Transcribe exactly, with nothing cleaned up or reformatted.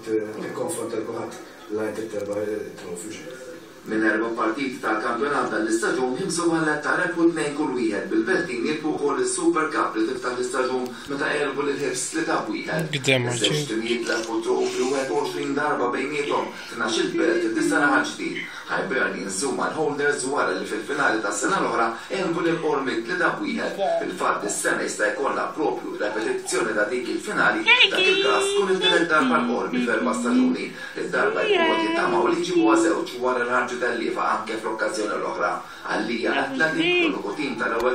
Tikkonfronta kulħadd la inti terbaħ it-trophy. Minn erba' partiti tal-kampjonat tal-istaġun, Hibs u Valletta rebħu tnejn kull wieħed, bil-Beltin jirbħu wkoll is-Super Cup li tiftaħ l-istaġun meta għelbu lil Hibs tlieta b'wieħed. Qdem. Iż-żewġ timijiet lagħbu trofi wieħed u għoxrin darba bejniethom, tnax-il Belt, disa' Raħal Ġdid. Hibernians huma l-holders wara li fil-finali tas-sena l-oħra għelbu lil Qormi tlieta b'wieħed. Fil-fatt, is-sena jista' jkollna propju repetizzjoni ta' dik il-finali, dak il-każ tkun it-tielet darba l-Qormi f'erba' staġuni. Id-darba jkunu qed jittamaw li jġibuha żewġ wara l-ħarġu tal-lifa anke fl-okkażjoni l-oħra. Għalija Athletic, l-uniku tim tal-ewwel